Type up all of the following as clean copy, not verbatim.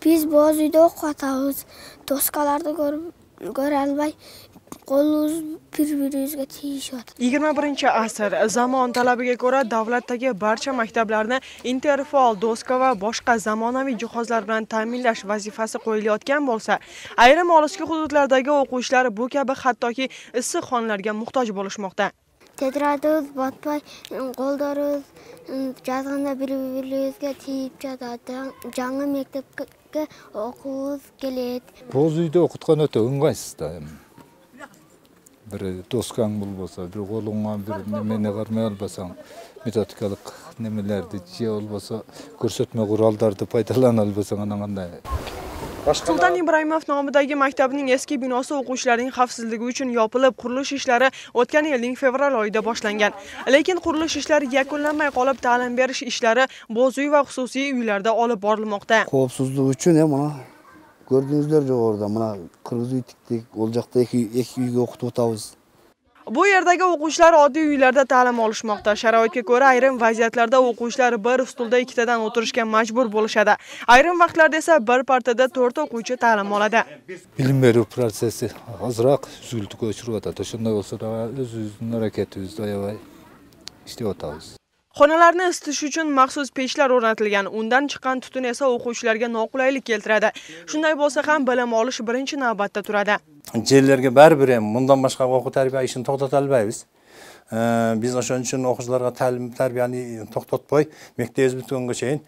Биз боз үйдө окуп атабыз. Доскаларды көрө албай, колубуз бири-бирибизге тийишип атат. 21-asr zamon talabiga ko'ra davlatdagi barcha maktablarni interfaol doska va boshqa zamonaviy jihozlar bilan ta'minlash vazifasi qo'yilayotgan bo'lsa, ayrim olisga hududlardagi o'quvchilar bu kabi hattoki issiq xonlarga muhtoj bo'lishmoqda. Tedradыбыз батпай, колдорубуз жазганда бири-бирибизге тийип жатат. Жаңы мектепке окуубуз келет. Боз үйдө окуткан өтө ыңгайсыз да. Бир доскаң болбосо, бир колуңа бир немени кармай албасаң, методикалык немелерди же болбосо көрсөтмө куралдарды пайдалана албасаң, анан кандай? Sultan Ibrohimov nomidagi maktabning eski binosi o'quvchilarning xavfsizligi uchun yopilib, qurilish ishlari o'tgan yilning fevral oyida boshlangan. Lekin qurilish ishlari yakunlanmay qolib, ta'lim berish ishlari bo'z uy va xususiy uylarda olib borilmoqda. Коопсуздук үчүн мына көрдүңүздөр жогоруда мына кыргыз үй тиктик, ол жакта эки үйгө окутуп атабыз. Bu yerdagi o'quvchilar oddiy uylarda ta'lim olishmoqda. Sharoitga ko'ra ayrim vaziyatlarda o'quvchilar bir stulda ikkitadan o'tirishga majbur bo'lishadi. Ayrim vaqtlarda esa bir partada 4 o'quvchi ta'lim oladi. Bilim berүү prosesi azыраак үзүлтүккө учуруп атат. Ошондой болсо да өзүбүздүн аракетибизди аябай иштеп атабыз. Xonalarni isitish uchun maxsus pechlar o'rnatilgan. Undan chiqqan tutun esa o'quvchilarga noqulaylik keltiradi. Shunday bo'lsa ham bilim olish birinchi navbatda turadi. Жерлерге баары-бир мындан башка окуу тарбия ишин токтото албайбыз. Биз ошон үчүн окуучуларга ta'lim тарбияны токтотпой, мектебибиз бүткөнгө чейин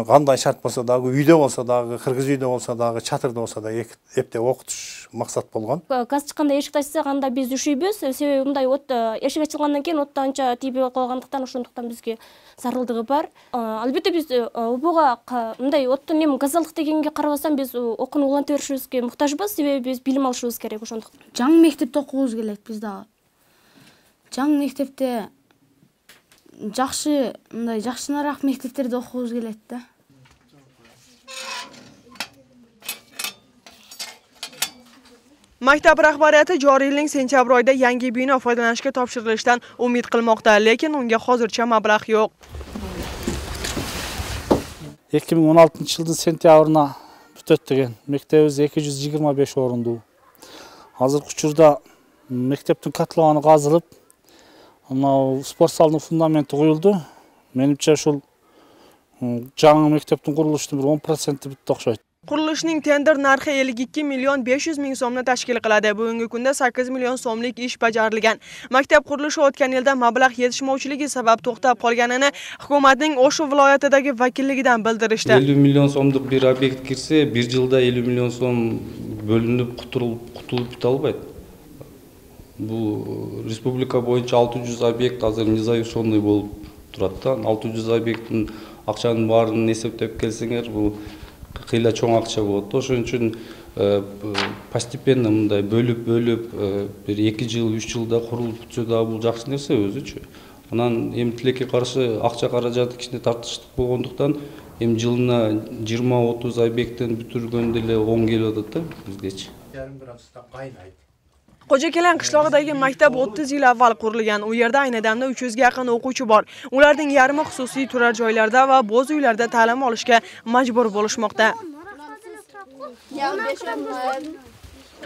кандай шарт болсо дагы, үйдө болсо дагы, кыргыз үйдө болсо дагы, чатырда болсо да эптеп окутуш максат болгон. Газ чыкканда эшик ачса анда биз üşүйбүз. Себеби мындай эшик ачылгандан кийин отто анча тийбей койгондуктан ошондуктан бизге зарылдыгы бар. Албетте биз убуга мындай оттон эми газалык дегенге карабастан биз окууну уланта беришибизге муктажбыз. Себеби биз билим алышыбыз керек ошондуктан. Жаңы мектепте окуубуз келет биз дагы. Жаңы мектепте жакшыраак мектептерде окуубуз келет да. Maktab rahbariyati joriy yilning sentyabr oyida yangi bino foydalanishga topshirilishidan umid qilmoqda, lekin unga hozircha mablag' yo'q. 2016-жылдын сентябрына бүтөт деген. Мектебибиз 225 орундуу. Азыркы учурда мектептин котлованы казылып, спорт залынын фундаменти куюлду. Менимче ушул жаңы мектептин курулуштун 10% бүтүп окшойт. Qurilishning tender narxi 52 million 500 ming so'mni tashkil qiladi. Bugungi kunda 8 million so'mlik ish bajarilgan. Maktab qurilishi o'tgan yilda mablag' yetishmovchiligi sabab to'xtab qolganini hukumatning O'sha viloyatidagi vakilligidan bildirishdi. 50 million so'mlik bir obyekt kirsa, bir yilda 50 million so'm bölünüp qutulib bita albayt. Bu respublika boyunca 600 obyekt azыр незавершенный болуп турат да. 600 объекттин акчанын баарын эсептеп келсеңер, бул кыйла чоң акча болот. Ошон үчүн постепенно мындай бөлүп бир 2 жыл, 3 жылда курулуп бүтсө да бул жакшы нерсе өзүчү. Анан эми тилекке каршы акча каражаты кичине тартыштык болгондуктан эми жылына 20-30 объекттен бүтүргөндө эле 10 келип атат да бизгечи. Qo'jakelen qishlog'idagi maktab 30 yil avval qurilgan. U yerda ayni damda 300 ga yaqin o'quvchi bor. Ularning yarmi xususiy turar joylarda va bo'z uylarda ta'lim olishga majbur bo'lishmoqda.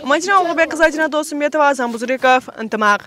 Majra O'g'bek qizi Ajnat Do'stmetova, Azam Buzrikov, Intimaq.